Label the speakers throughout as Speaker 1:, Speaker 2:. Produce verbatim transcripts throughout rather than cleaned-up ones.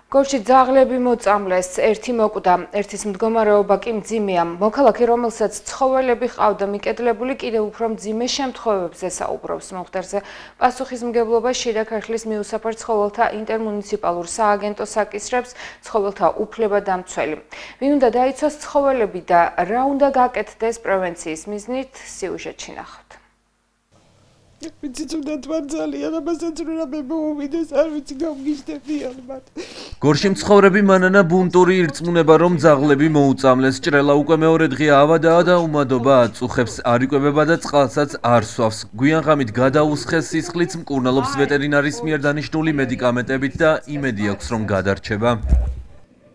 Speaker 1: გორში ძაღლები მოწამლეს, ერთი მოკვდა, ერთის მდგომარეობა კი მძიმეა. მოქალაქე, რომელსაც ცხოველები ჰყავდა მიკედლებული, კიდევ უფრო მძიმე შემთხვევებზე საუბრობს. მომხდარზე პასუხისმგებლობა შიდა ქართლის მიუსაფარ ცხოველთა ინტერმუნიციპალურ სააგენტოს აკისრებს ცხოველთა უფლებადამცველი. ვინ უნდა დაიცვას ცხოველები და რა უნდა გაკეთდეს პრევენციის მიზნით, სიუჟეტში ნახავთ.
Speaker 2: ვიცით უნდა თვალწალიან, ამასაც რა მე მოვიდეს, არ ვიცი გამგიშდებიან მათ.
Speaker 3: გორში მცხოვრები მანანა ბუნტური ირწმუნება, რომ ძაღლები მოუწამლეს. ჭრელა უკვე მეორე დღეა ავადაა და უმადობა აწუხებს, არ იკვებება და წყალსაც არ სვავს. გვიან ღამით გადაუსხეს სისხლიც, მკურნალობს ვეტერინარის მიერ დანიშნული მედიკამენტებით და იმედი აქვს, რომ გადარჩება.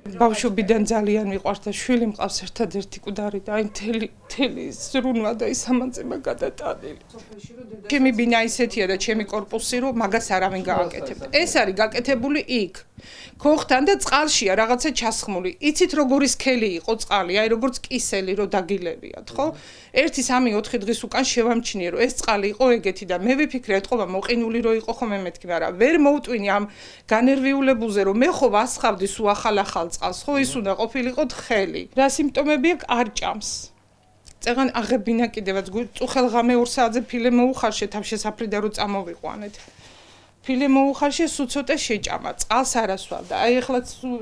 Speaker 2: ბავშვობიდან ძალიან მიყვარს და შვილი მყავს ერთადერთიკვდარი და აი მთელი მთელი ზრუნვა და ის ამანწება გადატანილი. ჩემი ბინა ისეთია და ჩემი კორპუსი რომ მაგას არავინ გააკეთებდა. ეს არის გაკეთებული იქ. ქოხთან და წყალშია რაღაცა ჩასხმული. იცით როგორი სქელი იყო წყალი, აი როგორც კისელი რო დაგილებიათ, ხო? ერთი სამი ოთხი დღის უკან შევამჩნიე რომ ეს წყალი იყო ეგეთი და მე ვიფიქრე ეთყობა მოყინული რო იყო ხოლმე მეთქი, მაგრამ ვერ მოვტვინი ამ განერვიულებულზე რომ მე ხო ვასხავდი სულ ახალ-ახალ წყალს, ხო ის უნდა ყოფილიყო თხელი. რა სიმპტომები აქვს? არ ჭამს. წეგან აღებინა კიდევაც წუხელღამე ორ საათზე ფილე მოუხარშე თავშესაფრიდან რო წამოვიყვანეთ. ფილე მოუხარშე სულ ცოტა შეჭამა, წყალს არ ასვავდა. აი ეხლა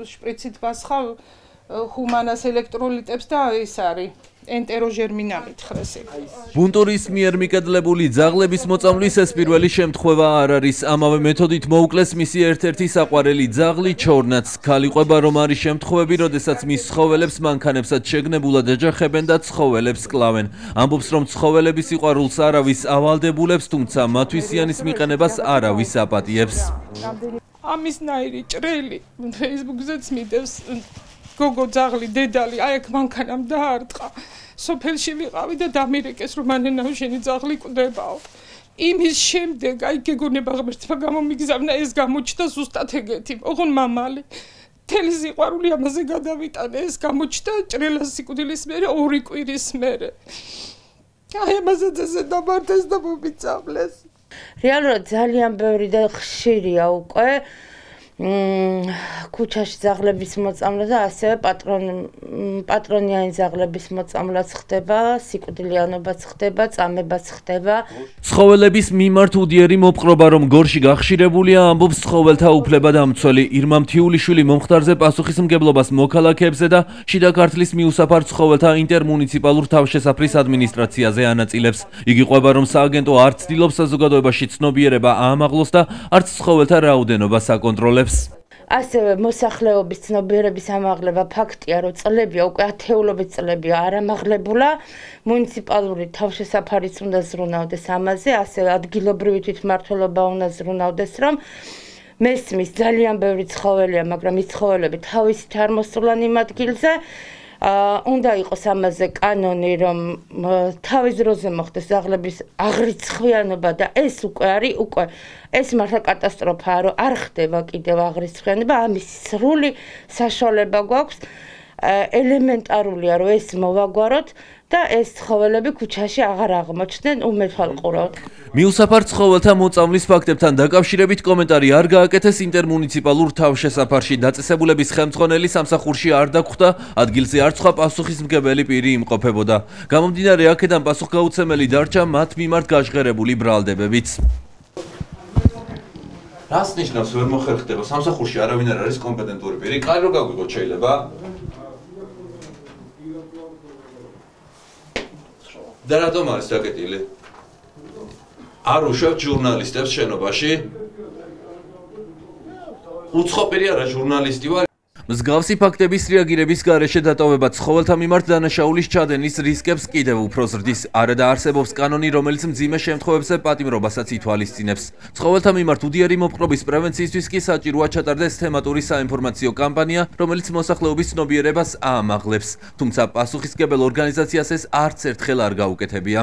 Speaker 2: შპრიცით ვასხავ ჰუმანას ელექტროლიტებს და ის არის ენტეროჟერმინალით ხრესი.
Speaker 3: ბუნტურის მიერ მიკედლებული ძაღლების მოწამვლის ეს პირველი შემთხვევა არ არის. ამავე მეთოდით მოუკლეს მისი ერთ-ერთი საყვარელი ძაღლი ჩორნაც. ქალი ყვება, რომ არის შემთხვევები, როდესაც მის ცხოველებს მანქანებსაც შეგნებულად ეჯახებენ და ცხოველებს კლავენ. ამბობს, რომ ცხოველების სიყვარულს არავის ავალდებულებს, თუმცა მათვისიანის მიყენებას არავის აპატიებს.
Speaker 2: ამისნაირი ჭრელი Facebook-ზეც მიდევს. გოგო ძაღლი დედალი აი აქ მანქანამ დაარტყა. სოფელში ვიყავი და დამირეკეს რომ მანენაო შენი ძაღლი კვდებაო. იმის შემდეგ აი გეგონება ღმერთმა გამომიგზავნა ეს გამოჩნდა ზუსტად ეგეთი. ოღონ მამალი მთელი სიყვარული ამაზე გადავიტანე, ეს გამოჩნდა ჭრელას სიკვდილის მერე ორი კვირის მერე. აი ამაზეც ესე დამარდეს და მომიწამლეს.
Speaker 4: რეალურად ძალიან ბევრი და ხშირია უკვე ქუჩაში ძაღლების მოწამვლა და ასევე პატრონიანი ძაღლების მოწამვლაც ხდება, სიკვდილიანობაც ხდება, წამებაც ხდება.
Speaker 3: ცხოველების მიმართ უდიერი მოპყრობა, რომ გორში გახშირებულია, ამბობს ცხოველთა უფლებადამცველი ირმა მთიულიშვილი მომხდარზე პასუხისმგებლობას მოქალაქეებზე და შიდა ქართლის მიუსაფარ ცხოველთა ინტერმუნიციპალურ თავშესაფრის ადმინისტრაციაზე ანაწილებს. იგი ყვება, რომ სააგენტო არ ცდილობს საზოგადოებაში ცნობიერება აამაღლოს და არც ცხოველთა რაოდენობას აკონტროლებს.
Speaker 4: ასევე მოსახლეობის ცნობიერების ამაღლება ფაქტია, რომ წლებია უკვე ათეულობით წლებია არ ამაღლებულა. მუნიციპალური თავშესაფარიც უნდა ზრუნავდეს ამაზე, ასევე ადგილობრივი თვითმმართველობა უნდა ზრუნავდეს, რომ მესმის ძალიან ბევრი ცხოველია, მაგრამ ის ცხოველები თავისით არ მოსულან იმ ადგილზე. უნდა იყოს ამაზე კანონი, რომ თავის დროზე მოხდეს ძაღლების აღრიცხვიანობა და ეს უკვე არის უკვე ეს მართლა კატასტროფაა, რომ არ ხდება კიდევ აღრიცხვიანობა, ამის სრული საშუალება გვაქვს. ელემენტარულია, რომ ეს მოვაგვაროთ და ეს ცხოველები ქუჩაში აღარ აღმოჩნდნენ უმეთვალყუროდ.
Speaker 3: მიუსაფარ ცხოველთა მოწამვლის ფაქტებთან დაკავშირებით კომენტარი არ გააკეთეს ინტერმუნიციპალურ თავშესაფარში. დაწესებულების ხელმძღვანელი სამსახურში არ დაგხვდა, ადგილზე არ სხვა პასუხისმგებელი პირი იმყოფებოდა. გამომდინარე აქედან პასუხგაუცემელი დარჩა მათ მიმართ გაჟღერებული ბრალდებებიც. რას ნიშნავს ვერ მოხერხდება? სამსახურში არავინ არ არის კომპეტენტური პირი. კარი რო გაგვიგოთ შეიძლება? და რატომ არის დაკეტილი? არ უშვებთ ჟურნალისტებს შენობაში? უცხო პირი არა, ჟურნალისტი ვარ. მსგავსი ფაქტების რეაგირების გარეშე დატოვება ცხოველთა მიმართ დანაშაულის ჩადენის რისკებს კიდევ უფრო ზრდის. არადა არსებობს კანონი, რომელიც მძიმე შემთხვევებზე პატიმრობასაც ითვალისწინებს. ცხოველთა მიმართ უდიერი მოპყრობის პრევენციისთვის კი საჭიროა ჩატარდეს თემატური საინფორმაციო კამპანია, რომელიც მოსახლეობის ცნობიერებას აამაღლებს. თუმცა პასუხისმგებელ ორგანიზაციას ეს არც ერთხელ არ გაუკეთებია.